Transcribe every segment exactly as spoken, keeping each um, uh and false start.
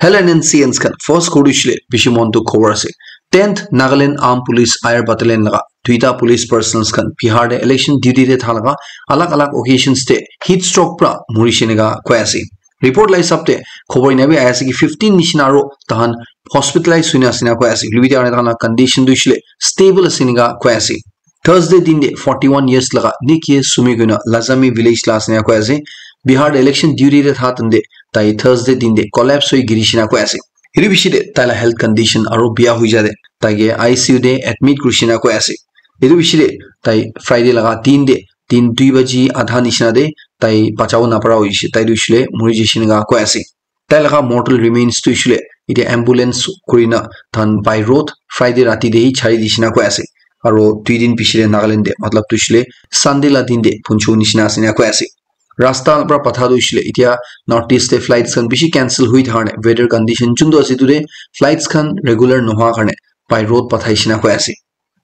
L N N C Ns khan first khobor tu hoishe le bishi mon dukh khobor ase. Tenth Nagaland Armed Police Air Battalion laga duita police personnels khan Bihar te election duty te tha laga alag alag occasions te heat stroke pra murishe neka koi ase. Report la hisab te khobor ena bi ahi ase ki fifteen nishina aro tahan hospitalize hoina ase na koi ase. Hoilebi tahan la condition tu hoishe le stable ase neka koi ase. Thursday din te forty-one years laga Nikie Sumi koina Lazami village la ase na koi ase. Bihar te election duty te tha tande tai Thursday din te collapse hoi giri shina koi ase. Etu bishi te tai la health condition aro biya hoi ja te tai ke I C U te admit kuri shina koi ase. Etu bishi te tai Friday laga din te din dui baji adha nishina te tai bachabo napara hoishe, tai tu hoishe le muri jai shina koi ase. Tai laga mortal remains tu hoishe le etia ambulance kurina tahan by road Friday rati te hi chari dishina koi ase. Aro dui din piche te Nagaland te, matlab tu hoishe le Sunday la din te phunchu nishina ase na koi ase. Rasta pra patha tu hoishe le etia North East te flights khan bishi cancel hoi thaka karne weather condition chuntu ase etu te flights khan regular nohoa karne by road pathai shina koi ase.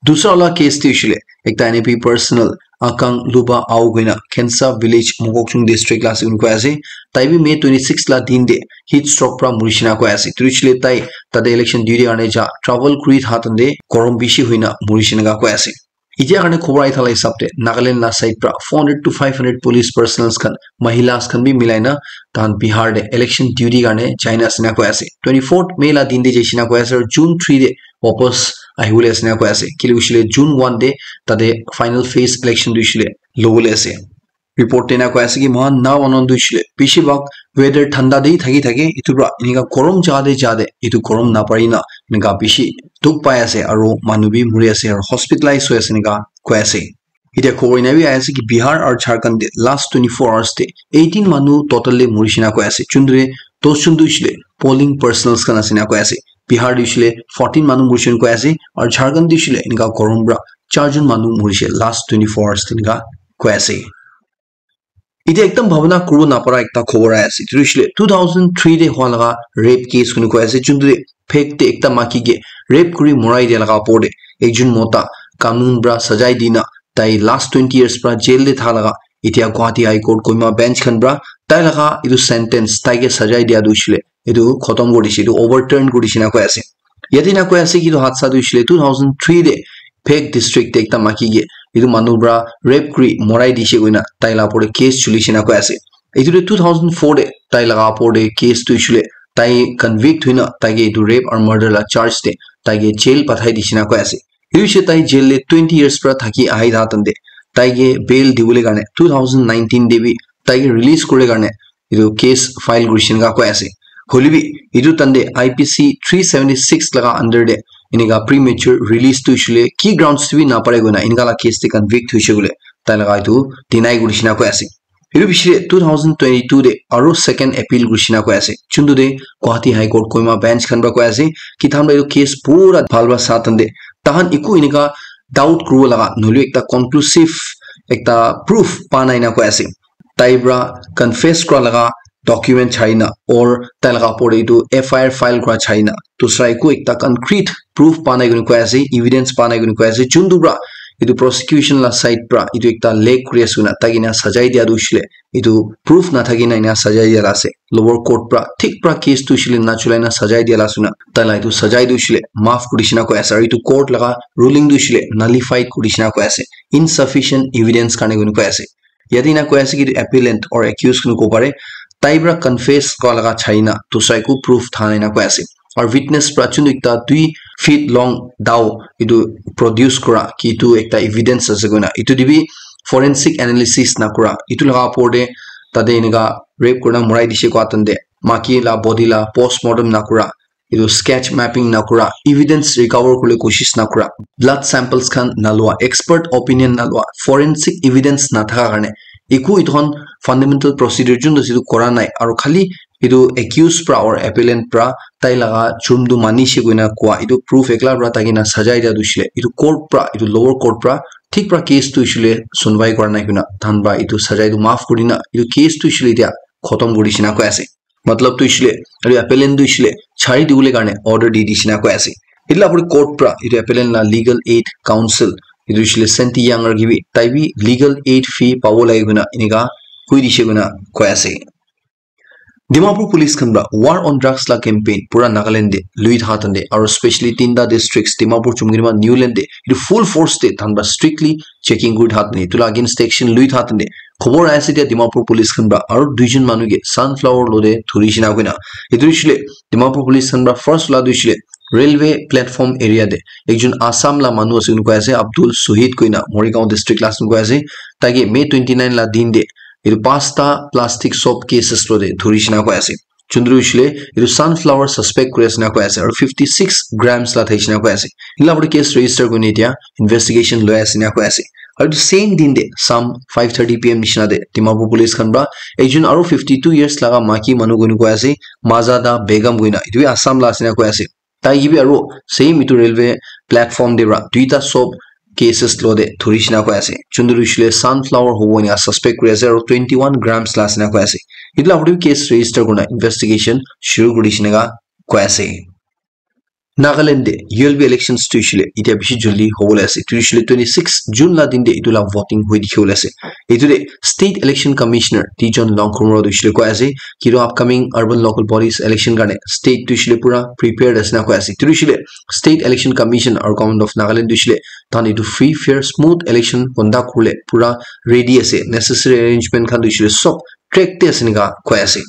Dusra wala case te hoishe le ekta N I P personnel Akang Luba Ao koina Khensa village Mokokchung district la ase koina koi ase. Tai bi May twenty-six la din te heat stroke pra muri shina koi ase. Etu hoishe le tai tate election duty karne ja travel kuri tha tande gorom bishi hoina muri shina koi ase. Etia karne khobor ahi thala hisab te Nagaland la side pra four hundred to five hundred police personnels khan, mahilas khan bi milai na tahan Bihar te election duty karne jaina ase na koi ase. Twenty-fourth May la din te jai shina koi ase, aru June three te wapas ahibole ase na koi ase. Kile hoishe le June one te tate final phase election tu hoishe le lobole ase. Report te na koi ase ki mohan na manu tu hoishe le bishi bhag weather thanda te thaki thake etu pra enika gorom jaga te ja te etu gorom napari na enika bishi dukh pai ase aru manu bi muri ase aru hospitalize hoi ase enika koi ase. Etia khobor ena bi ahi ase ki Bihar aru Jharkhand te last twenty-four hours te eighteen manu total te muri shina koi ase. Chundre dos chundu hoishe le polling personnels khan ase na koi ase. Bihar te hoishe le fourteen manu muri shina koi ase aru Jharkhand te hoishe le enika gorom pra charjon manu murishe last twenty-four hours te enika koi ase. Etia ekdam bhabana kuribo napara ekta khobor ahi ase. Etu hoishe le two thousand three te hua laga rape case kuni koi ase. Chuntu te phek te ekta maki ke rape kuri morai dia laga opor te ekjon mota kanun pra sajai dina tai last twenty years pra jail te tha laga etia Guwahati High Court Kohima bench khan pra tai laga etu sentence tai ke sajai dia tu hoishe le etu khotom kuri dishe, etu overturn kuri dishe na koi ase. Yate na koi ase ki etu hadsa tu hoishe le two thousand three te Phek district te ekta maki ke etu manu pra rape kuri morai dishe koina tai la opor te case chuli shina koi ase. Etu tu two thousand four te tai laga opor te case tu hoishe le tai convict hoina tai ke etu rape aru murder la charge te tai ke jail pathai dishe na koi ase. Etu hoishe tai jail te twenty years pra thaki ahi tha tante tai ke bail dibole karne two thousand nineteen te bi tai ke release kure karne etu case file kurishe enika koi ase. Hoilebi etu tante I P C three seventy six laga under te enika premature release tu hoishe le ki grounds te bi napare koina enika la case te convict hoishe koile tai laga etu deny kurishe na koi ase. Etu piche te two thousand twenty-two te aru second appeal kurishe na koi ase. Chuntu te Guwahati High Court Kohima bench khan pra koi ase ki tahan pra etu case pura bhal pra sa tante tahan eku enika doubt kuribo laga nohoile ekta conclusive ekta proof pa nai na koi ase. Tai pra confess kura laga document chai na or tai laga opor te etu F I R file kura chai na dusra eku ekta concrete proof pa nai koina koi ase, evidence pa nai koina koi ase. Chuntu pra etu prosecution la side pra etu ekta lack kuri ase koina tai kena sajai dia tu hoishe le etu proof nathaki na ena sajai dia la ase. Lower court pra thik pra case tu hoishe le nachulai na sajai dia la ase koina tai la etu sajai tu hoishe le maaf kuri dishe na koi ase. Aru etu court laga ruling tu hoishe le nullified kuri dishe na koi ase, insufficient evidence karne koina koi ase. Yate ena koi ase ki etu appellant or accused koina kobo pare, tai pra confess kura laga chai na dusra eku proof tha nai na koi ase. Aru witness pra chuntu ekta tui feet long dao etu produce kura ki etu ekta evidence ase koina etu te bi forensic analysis na kura etu laga opor te tate enika rape kurina morai dishe koa tante maki la body la postmortem na kura etu sketch mapping na kura evidence recover kuribole koshish na kura blood samples khan na lua expert opinion na lua forensic evidence na thaka karne eku etu khan fundamental procedure chuntu ase etu kura nai aru khali etu accused pra or appellant pra tai laga jurm tu manishe koina koa etu proof ekla pra thaki na sajai dia tu hoishe le etu court pra etu lower court pra thik pra case tu hoishe le sunwai kura nai koina tahan pra etu sajai tu maaf kuri na etu case tu hoishe le etia khotom kuri dishe na koi ase. Matlab tu hoishe le etu appellant tu hoishe le chari dibole karne order di dishe na koi ase. Etu la opor court pra etu appellant la legal aid counsel etu hoishe le Senti Yang Ragi bi tai bi legal aid fee pabo lage koina enika koi dishe koina koi ase. Dimapur police khan pra war on drugs la campaign pura Nagaland te lui tha tande, aro specially tinta districts Dimapur, Chumgirima, Niuland te etu full force te than pra strictly checking kuri tha tande, etu la against action lui tha tande khobor aise tia Dimapur police khan pra aro duijon manu ke sunflower lo te thuri shina koina. Etu shile Dimapur police khan pra first la du shile railway platform area te ekjon Assam la manu ase koi ase, Abdul Suhid koina Morigaon district la ase koi ase. Taike May twenty nine la din te etu pasta plastic soap cases lo te thuri shina koi ase. Chundru shile etu sunflower suspect kuri ase na koi ase, aro fifty six grams la thai shina koi ase. Ila pura case register kuri etia investigation loi ase na koi ase. Aro etu same din te some five thirty P M nishina te Dimapur police khan pra ekjon aro fifty two years laga maki manu koi ase, Mazada Begum koina, etu bi Assam la ase na koi ase. Tai ke bi aro same etu railway platform te pra duita soap cases lo te thuri shina koi ase. Chundru shile sunflower hobo ena suspect kuri ase aro twenty one grams la ase na koi ase. Etu la pura case register kurina investigation shuru kuri shina koi ase. Nagaland te U L B elections tu shile etia bishi joldi hobole ase. Tu shile twenty six June la din te etu la voting hoi dikhi bole ase. Etu te State Election Commissioner Tijon Longkhumro tu shile koi ase ki tu upcoming urban local bodies election karne state tu shile pura prepared ase na koi ase. Tu shile State Election Commission aro Government of Nagaland tu shile tan etu free, fair, smooth election conduct kule pura ready ase. Necessary arrangement khan tu shile sob track te ase nika koi ase.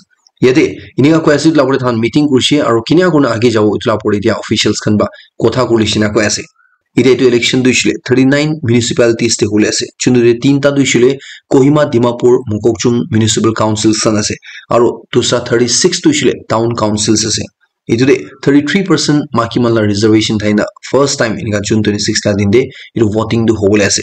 Yate enika koi ase, etu la pore than meeting kurishe aro kinia kurina age jabo etu la pore etia officials khan ba kotha kurishe na koi ase. Etia etu election tu hoishe le thirty nine municipalities te hole ase. Chundu te tinta tu hoishe le Kohima, Dimapur, Mokokchung municipal councils khan ase. Aro dusra thirty six tu hoishe le town councils ase. Etu te thirty three percent maki man la reservation thai na first time enika June twenty six la din te etu voting tu hobole ase.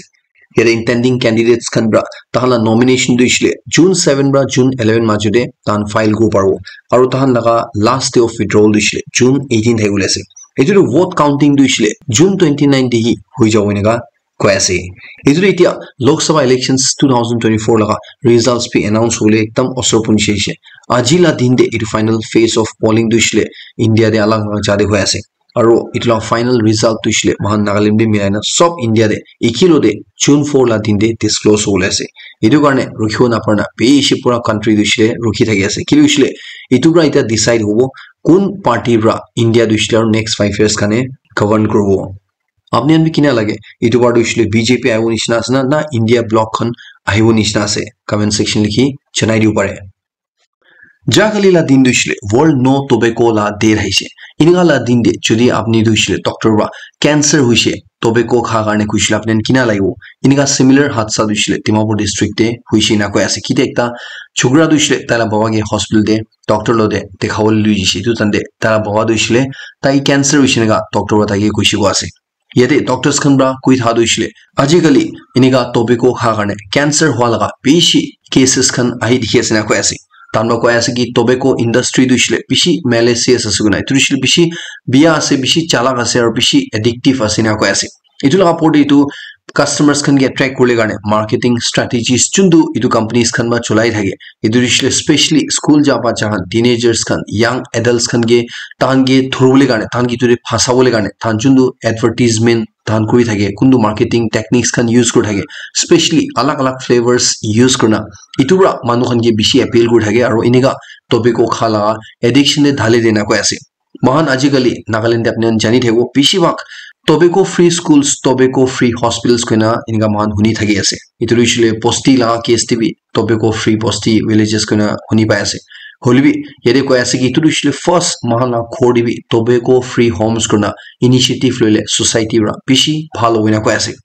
Yate intending candidates khan pra tahan la nomination tu hoishe le June seven pra June eleven majo te tahan file kuribo paribo. Aro tahan laga last day of withdrawal tu hoishe le June eighteen thai bole ase. Etu tu vote counting tu hoishe le June twenty nine te hi hoi jabo enika koi ase. Etu tu etia Lok Sabha elections two thousand twenty four laga results bi announce hole ekdam osor punchi ase. Aji la din te etu final phase of polling tu hoishe le India te alag alag jaga te hoi ase. Aro etu la final result tu hoishe le moikhan Nagaland bi milai na sob India te eki lo te June four la din te disclose hobole ase. Etu karne rukhibo napare na bishi pura country tu hoishe le rukhi thaki ase. Kile hoishe le etu pra etia decide hobo kun party pra India tu hoishe le aro next five years karne govern kuribo. Apni khan bi kina lage? Etu bar tu hoishe le B J P ahibo nishina ase na, na India bloc khan ahibo nishina ase? Comment section likhi janai dibo pare. Jahakali la din tu hoishe le World No Tobacco la day ahishe. Enika la din te jodi apni tu hoishe le doctor pra cancer hoishe, tobacco kha karne koishe le apni khan kina lagibo? Enika similar hadsa tu hoishe le Dimapur district te hoishe na koi ase. Kite ekta chokra tu hoishe le taila baba ke hospital te doctor lo te dekha bole lui jishe. Etu time te taila baba tu hoishe le tai cancer hoishe enika doctor pra tai ke koishe koi ase. Yate doctors khan pra koi tha tu hoishe le ajikali enika tobacco kha karne cancer hua laga bishi cases khan ahi dikhi ase na koi ase. Tahan pra koi ase ki tobacco industry tu hoishe le bishi malicious ase koina. Etu hoishe le bishi biya ase, bishi chalak ase, aro bishi addictive ase na koi ase. Etu laga opor te etu customers khan ke attract kuribole karne marketing strategies chuntu etu companies khan pra cholai thake. Etu hoishe le specially school ja bacha khan, teenagers khan, young adults khan ke tahan ke dhuribole karne, tahan ke etu te phasabole karne, tahan chuntu advertisement tahan kuri thake, kuntu marketing techniques khan use kuri thake, specially alag alag flavors use kurina, etu pra manu khan ke bishi appeal kuri thake, aro enika tobacco kha laga addiction te dhali de na koi ase. Moikhan ajikali Nagaland te apni khan jani thakibo, bishi bhag tobacco free schools, tobacco free hospitals koina enika moikhan huni thaki ase. Etu hoishe le bosti laga case te bi tobacco free bosti villages koina huni pai ase. Hoile bi yate koi ase ki etu hoishe le first moikhan la ghor te bi tobacco free homes koina initiative loile society pra bishi bhal hobo koina koi ase.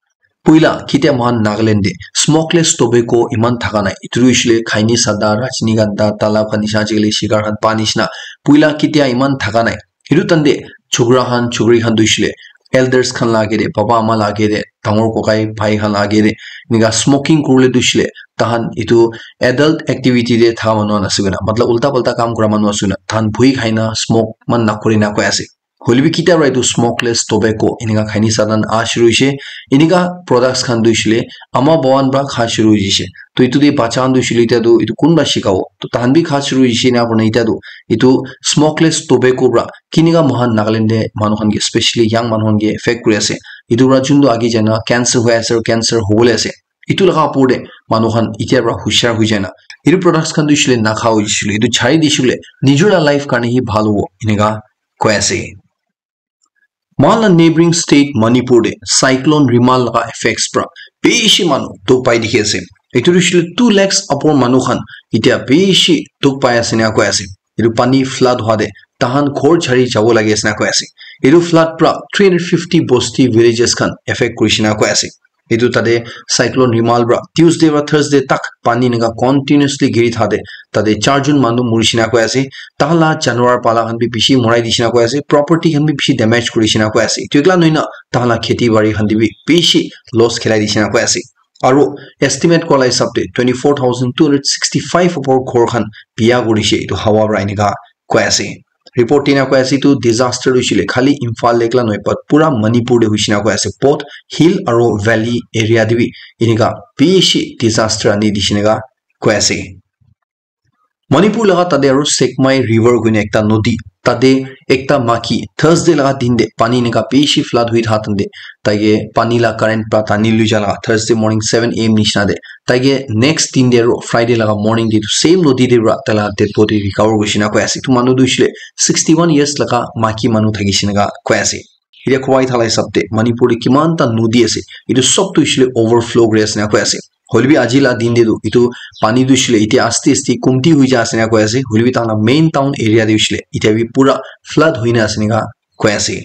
Puila kitia moikhan Nagaland te smokeless tobacco iman thaka nai. Etu tu hoishe le khaini sada, rajnigandha, talab khan nisha, ajikali shigar khan pa nishina. Puila kitia iman thaka nai. Etu time te chokra khan, chokri khan tu hoishe le elders khan la age te, baba ama la age te, dangor kokai bhai khan la age te enika smoking kuribole tu hoishe le tahan etu adult activity te thaka manu khan ase koina, matlab ulta palta kam kura manu ase koina, tahan bhui khai na smoke man nakuri na koi ase. Hoile bi kitia pra etu smokeless tobacco enika khaini sadan ah shuru hoishe. Enika products khan tu hoishe le ama baba khan pra kha shuru hoishe. To etu te bacha khan tu hoishe le etia tu etu kun pra shikabo? To tahan bi kha shuru hoishe, ena kurina etia tu etu smokeless tobacco pra kinika moikhan Nagaland te manu khan ke, specially young manu khan ke affect kuri ase. Etu pra chuntu age jai na cancer hoi ase, aro cancer hobole ase. Etu laga opor te manu khan etia pra hushiar hoi jai na Etu products khan tu hoishe le nakha hoishe le, etu chari dishe le, nijor la life karne hi bhal hobo, eneka koi ase. Moikhan la neighboring state Manipur te cyclone Remal laga effects pra bishi manu dukh pai dikhi ase. Etu tu hoishe le two lakhs upor manu khan etia bishi dukh pai ase eneka koi ase. Etu pani flood hwa te tahan ghor chari jabo lage ase eneka koi ase. Etu flood pra three hundred fifty bosti villages khan affect kurishe eneka koi ase. Etu tate cyclone Remal pra Tuesday pra Thursday tak pani eneka continuously giri thate tate charjon manu murishe eneka koi ase. Tahan la janwar pala khan bi bishi morai dishe eneka koi ase. Property khan bi bishi damage kurishe eneka koi ase. Etu ekla nohoi na tahan la kheti bari khan te bi bishi loss khilai dishe eneka koi ase. Aru estimate kora la hisab te twenty four thousand two hundred sixty five upor ghor khan biya kurishe etu hawa pra eneka koi ase. Report te eneka koi ase etu disaster tu hoishe le khali Imphal te ekla nohoi, but pura Manipur te hoishe eneka koi ase. Both hill aru valley area te bi eneka bishi disaster ani dishe eneka koi ase. Manipur laga tate aru Sekmai River koina ekta nodi, tate ekta maki Thursday laga din te pani eneka bishi flood hui thaka time te taike pani la current pra tani lui ja laga Thursday morning seven A M nishina te taike next din te aru Friday laga morning te etu same nodi te pra taila dead body recover kurishe eneka koi ase. Etu manu tu hoishe le sixty one years laga maki manu thakishe eneka koi ase. Etia kowai thala hisab te Manipur te kiman ta nodi ase, etu sob tu hoishe le overflow kuri ase eneka koi ase. Hoile bi aji la din te tu etu pani tu hoishe le etia aste aste kumti hui ja ase eneka koi ase. Hoile bi tahan la main town area te hoishe le etia bi pura flood hoi na ase eneka koi ase.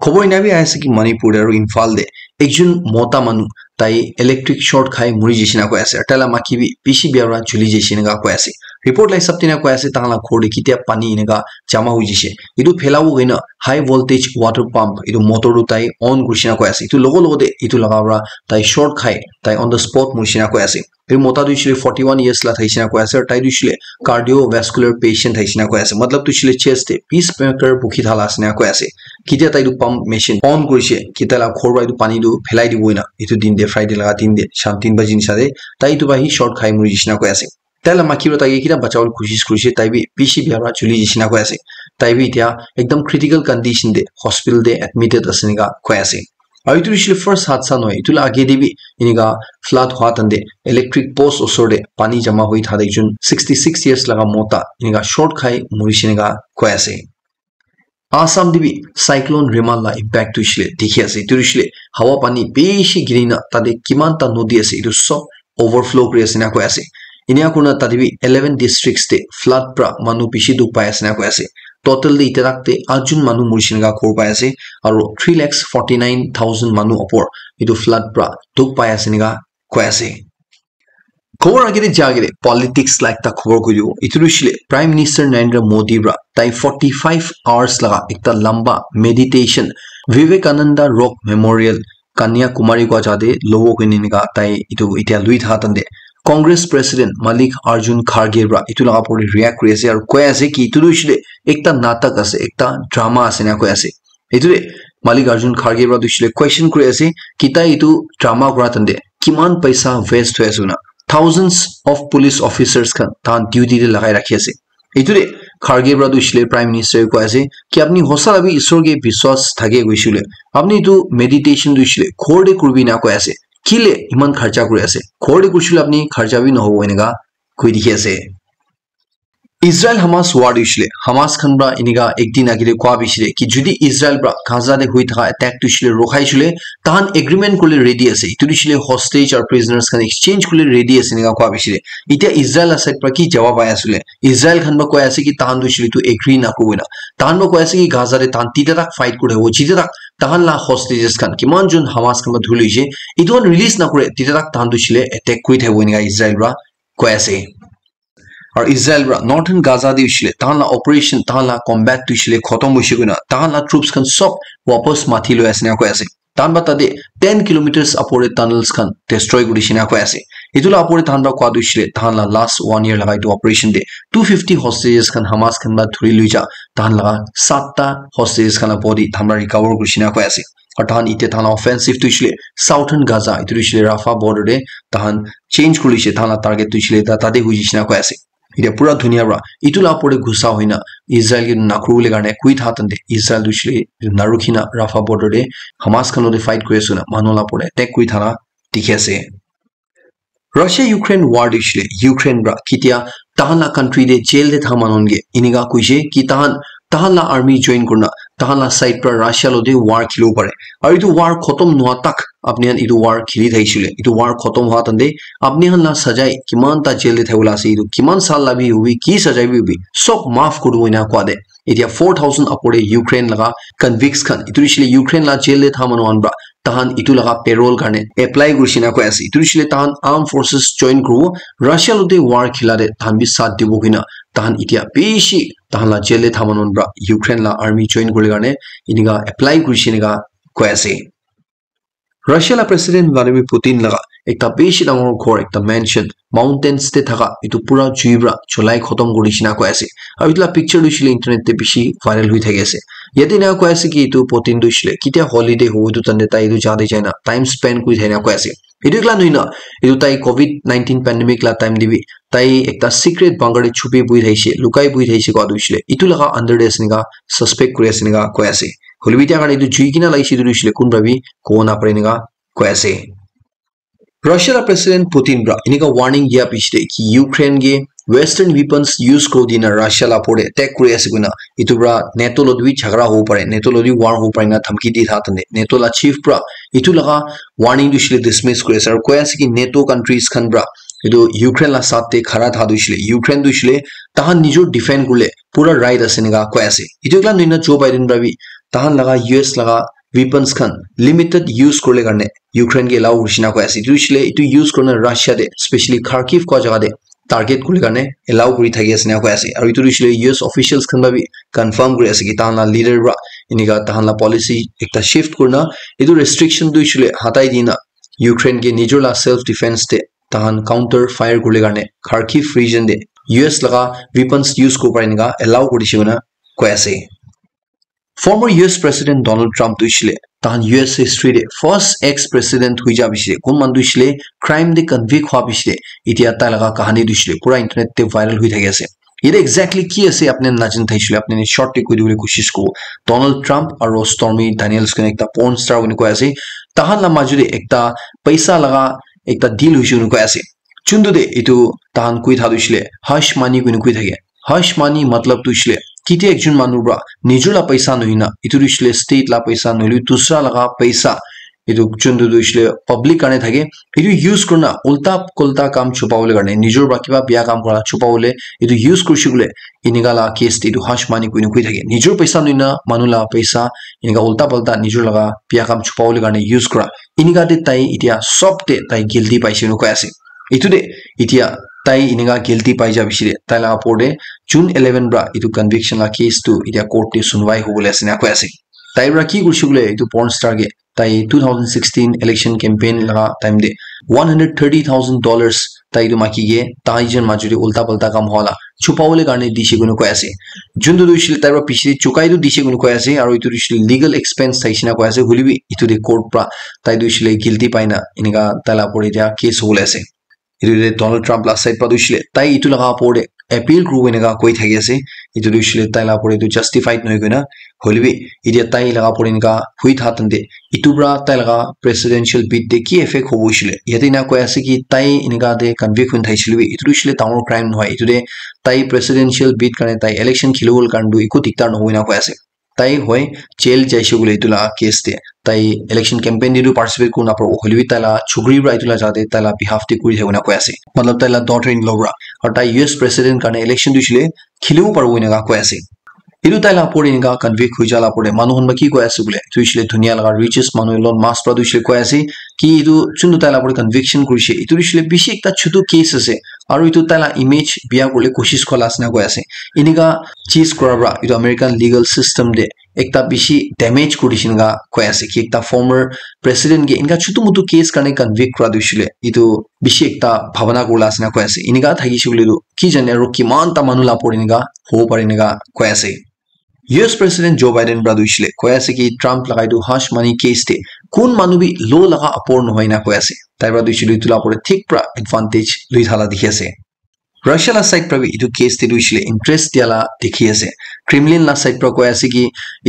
Khobor ena bi ahi ase ki Manipur te aru Imphal te ekjon mota manu tai electric short khai muri jishe eneka koi ase. Taila maki bi bishi bia pra juli jishe eneka koi ase. Report la hisab te eneka koi ase tahan la ghor te ketia pani eneka jama hui jishe. Etu phela bo hoina high voltage water pump etu motor tu tai on kurishe eneka koi ase. Etu logo logo te etu laga pra tai short khai tai on the spot murishe eneka koi ase. Etu mota tu hoishe le forty one years la thakishe eneka koi ase, aru tai tu hoishe le cardiovascular patient thakishe eneka koi ase. Matlab tu hoishe le chest te pacemaker bukhi thala ase eneka koi ase. Ketia tai tu pump machine on kurishe, ketia la ghor pra etu pani tu phelai dibo ena. Etu din te Friday laga din te sham tin baji nishina te tai etu pra hi short khai muri jishe eneka koi ase. Tai la maki pra tai ke kita bachawole koshish kurishe, tai bi bishi bia pra juli jishe eneka koi ase. Tai bi etia ekdam critical condition te hospital te admitted ase eneka koi ase. Aru etu hoishe le first hadsa nohoi, etu la age te bi eneka flood hwa time te electric post osor te pani jama hoi thaka ekjon sixty six years laga mota eneka short khai murishe eneka koi ase. Assam te bi cyclone Remal la impact tu hoishe le dikhi ase. Etu hoishe le hawa pani bishi giri na tate kiman ta nodi ase, etu sob overflow kuri ase eneka koi ase. Eneka kurina tate bi eleven districts te flood pra manu bishi dukh pai ase eneka koi ase. Total te etia tak te atjon manu murishe eneka khobor pai ase, aru three lakhs forty nine thousand manu upor etu flood pra dukh pai ase eneka koi ase. Khobor age te ja age te politics la ekta khobor koi dibo. Etu tu hoishe le Prime Minister Narendra Modi pra tai forty five hours laga ekta lamba meditation Vivekananda Rock Memorial Kanyakumari koi ja te lobo koine eneka tai etu etia lui thaka time te Congress President Mallikarjun Kharge pra etu laga opor te react kuri ase aru koi ase ki etu tu hoishe le ekta natak ase, ekta drama ase eneka koi ase. Etu te Mallikarjun Kharge pra tu hoishe le question kuri ase ki tai etu drama kura time te kiman paisa waste hoi ase koina. Thousands of police officers khan tahan duty te lagai rakhi ase. Etu te Kharge pra tu hoishe le Prime Minister koi ase ki apni hosa la bi Isor ke biswas thake koishe le apni etu meditation tu hoishe le ghor te kuribi ena koi ase. Kile iman kharcha kuri ase? Ghor te kurishe le apni kharcha bi nohobo eneka koi dikhi ase. Israel Hamas war tu hoishe le Hamas khan pra eneka ek din age te koi bishe le ki jodi Israel pra Gaza te hoi thaka attack tu hoishe le rokhai shey le tahan agreement kuri le ready ase. Etu tu hoishe le hostage aru prisoners khan exchange kuri le ready ase eneka koi bishe le. Etia Israel la side pra ki jawab ahi ase le? Israel khan pra koi ase ki tahan tu hoishe le etu agree nakuribo ena. Tahan pra koi ase ki Gaza te tahan tita tak fight kuri thakibo, jita tak tahan la hostages khan kiman jon Hamas khan pra dhuri loishe etu khan release nakure tita tak tahan tu hoishe le attack kuri thakibo eneka Israel pra koi ase. Aru Israel pra Northern Gaza te hoishe le tahan la operation, tahan la combat tu hoishe le khotom hoishe koina tahan la troops khan sob wapas mati loi ase eneka koi ase. Tahan pra tate ten kilometers upor te tunnels khan destroy kuri dishe eneka koi ase. Etu la opor te tahan pra koi tu hoishe le tahan la last one year laga etu operation te two fifty hostages khan Hamas khan pra dhuri loi ja tahan laga satta hostages khan la body tahan pra recover kuri dishe eneka koi ase. Aru tahan etia tahan la offensive tu hoishe le Southern Gaza, etu tu hoishe le Rafah border te tahan change kuri loishe, tahan la target tu hoishe le ta-, tate hoi jaishe na koi ase. Etia pura dunia pra etu la opor te gussa hoi na Israel ke nakuri bole karne koi tha tante Israel tu hoishe le narukhi na Rafah border te Hamas khan logote fight kuri ase koina manu la opor te attack kuri thaka dikhi ase. Russia Ukraine war tu hoishe le Ukraine pra ketia tahan la country te jail te tha manu khan ke enika koishe ki tahan tahan la army join kurna tahan la side pra Russia lo te war khilibo pare. Aru etu war khotom noa tak apni khan etu war khili thakishe le etu war khotom hoa tante apni khan la sajai kiman ta jail te thakibo la ase etu kiman sal la bi hobi ki sajai bi hobi sob maaf kuri dibo ena koa te. Etia four thousand upor te Ukraine laga convicts khan etu hoishe le Ukraine la jail te tha manu khan pra tahan etu laga parole karne apply kurishe na koi ase. Etu hoishe le tahan armed forces join kuribo, Russia lo te war khila te tahan bi saath dibo koina tahan etia bishi tahan la jail te tha manu khan pra Ukraine la army join kuribole karne enika apply kurishe enika koi ase. Russia la president Vladimir Putin laga ekta bishi dangor ghor ekta mansion mountains te thaka etu pura jui pra cholai khotom kuri dishina koi ase. Aru etu la picture tu hoishe le internet te bishi viral hoi thaki ase. Yate ena koi ase ki etu Putin tu hoishe le ketia holiday hobo etu tante tai etu jaga te jaina time spend kuri thakina koi ase. Etu ekla nohoi na etu tai covid nineteen pandemic la time te bi tai ekta secret bunker te chupi bui thakishe, lukai bui thakishe koa tu hoishe le etu laga under te ase enika suspect kuri ase enika koi ase. Hoilebi etia karne etu jui kena lagise etu tu hoishe le kunba bi kobo napare enika koi ase. Russia la president Putin pra enika warning dia piche te ki Ukraine ke western weapons use kuri dina Russia la opor te attack kuri ase koina etu pra NATO lo bi jhagara hobo pare, NATO lo bi war hobo pare na dhamki di tha tante NATO la chief pra etu laga warning tu hoishe le dismiss kuri ase aru koi ase ki NATO countries khan pra etu Ukraine la saath te khara tha tu hoishe le Ukraine tu hoishe le tahan nijor defend kuribole pura right ase enika koi ase. Etu ekla nohoi na Joe Biden pra bi tahan laga U S laga weapons khan limited use kuribole karne Ukraine ke allow kurishe na koi ase. Etu hoishe le etu use kurina Russia te specially Kharkiv koa jaga te target kuribole karne allow kuri thaki ase na koi ase. Aru etu hoishe le U S officials khan pra bi confirm kuri ase ki tahan la leader pra enika tahan la policy ekta shift kurina etu restriction tu hoishe le hatai dina Ukraine ke nijor la self defense te tahan counter fire kuribole karne Kharkiv region te U S laga weapons use kuribo pare enika allow kuri dishe koina koi ase. Former U S President Donald Trump tu hoishe le tahan U S history te first ex president hoi ja piche te kun manu tu hoishe le crime te convict hua piche te etia tai laga kahani tu hoishe le pura internet te viral hoi thaki ase. Yate exactly ki ase apni khan najane thaishe le apni khan short te koi dibole koshish kuribo. Donald Trump aru Stormy Daniels koina ekta porn star koina koi ase. Tahan la maju te ekta paisa laga ekta deal hoishe koina koi ase. Chuntu te etu tahan koi tha tu hoishe le hush money koina koi thake. Hush money matlab tu hoishe le ketia ekjon manu pra nijor la paisa nohoi na etu tu hoishe le state la paisa nohoi le dusra laga paisa etu chuntu tu hoishe le public karne thake etu use kurina ulta pulta kam chupabole karne nijor pra kiba bia kam kura chupabole etu use kurishe koile enika la case te etu hush money koina koi thake nijor paisa nohoi na manu la paisa enika ulta pulta nijor laga bia kam chupabole karne use kura enika te tai etia sob te tai guilty paishe koina koi ase. Etu te etia tai enika guilty pai ja piche te tai laga opor te June eleven pra etu conviction la case tu etia court te sunwai hobole ase na koi ase. Tai pra ki kurishe koile etu porn star ke tai two thousand sixteen election campaign laga time te one hundred thirty thousand dollars tai etu maiki ke tai jon maju te ulta pulta kam hua la chupabole karne dishe koina koi ase. Juntu tu hoishe le tai pra piche te chukai tu dishe koina koi ase aru etu tu hoishe le legal expense thaishe na koi ase hoilebi etu te court pra tai tu hoishe le guilty pai na enika tai la opor te etia case hobole ase. Etu te Donald Trump la side pra tu hoishe le tai etu laga opor te appeal kuribo enika koi thaki ase. Etu tu hoishe le tai la opor te etu justified nohoi koina hoilebi etia tai laga opor te enika hoi tha tante etu pra tai laga presidential bid te ki effect hobo hoishe le yate enika koi ase ki tai enika te convict hoi thaishe le bi etu tu hoishe le dangor crime nohoi etu te tai presidential bid karne tai election khilibole karne tu eku diktar nohoi na koi ase. Tai hoi jail jaishe koile etu la case te tai election campaign te tu participate kuri napabo hoilebi tai la chukri pra etu la jaga te tai la behalf te kuri thakibole koi ase matlab tai la daughter in law pra aru tai U S president karne election tu hoishe le khilibo paribo enika koi ase. Etu tai la opor te enika convict hoi ja la opor te manu khan pra ki koi ase koile tu hoishe le dunia laga richest manu Elon Musk pra tu hoishe le koi ase ki etu juntu tai la opor te conviction kurishe etu tu hoishe le bishi ekta chutu case ase aru etu tai la image bia kuribole koshish kura la ase na koi ase. Enika cheese kura pra etu American legal system te ekta bishi damage kuri dishe enika koi ase ki ekta former president ke enika chutu mutu case karne convict kura tu hoishe le etu bishi ekta bhabana kuribole ase na koi ase enika thakishe koile tu ki jane aru kiman ta manu la opor enika hobo pare enika koi ase. U S President Joe Biden pra tu hoishe le koi ase ki Trump laga etu hush money case te kun manu bi law laga opor nohoi na koi ase tai pra tu hoishe le etu la opor te thik pra advantage lui tha la dikhi ase. Russia la side pra bi etu case te tu hoishe le interest dia la dikhi ase. Kremlin la side pra koi ase ki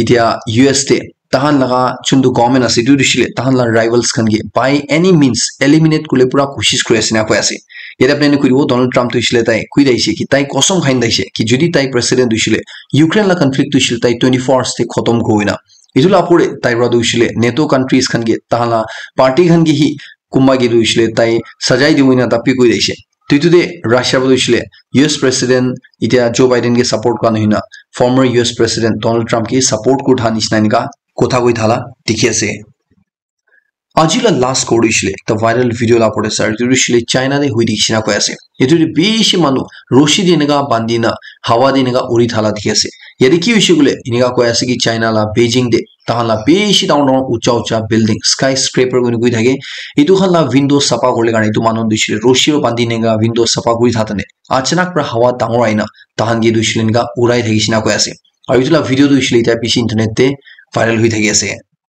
etia U S te tahan laga chuntu government ase, etu tu hoishe le tahan la rivals khan ke by any means eliminate kule pura koshish kuri ase na koi ase. Yate apni khan kuribo, Donald Trump tu hoishe le tai koi daise ki tai kosam khan daise ki jodi tai president hoishe le Ukraine la conflict tu hoishe le tai twenty-four hours te khotom kuri na. Etu la pore tai ra tu hoishe le NATO countries khan ke tahan la party khan ke hi kumba ke tu hoishe le tai sajai dibo na tapi koi daise. Tu etu de Russia ba tu hoishe le U S president itia Joe Biden ke support kura nahoi na former U S president Donald Trump ke support kuri tha nishina enika kotha koi thala dikhi ase. Aji la last kori hoishe le ekta viral video la pore sar tu hoishe le China de hui dikhi na koi ase. Etu de bishi manu roshi de enika bandi na hawa de enika uri thala dikhi ase. Yate ki hoishe kule enika koi ase ki China la Beijing de tahan la bishi dangor dangor ucha ucha building, skyscraper koi koi thake. Etu khan la window sapa kore karne etu manu tu hoishe le roshi ro bandi enika window sapa kuri thakane achanak pra hawa dangor aina tahan ke tu hoishe le enika urai thakishe na koi ase. Aru etu la video tu hoishe le etia bishi internet te viral hui thaki ase.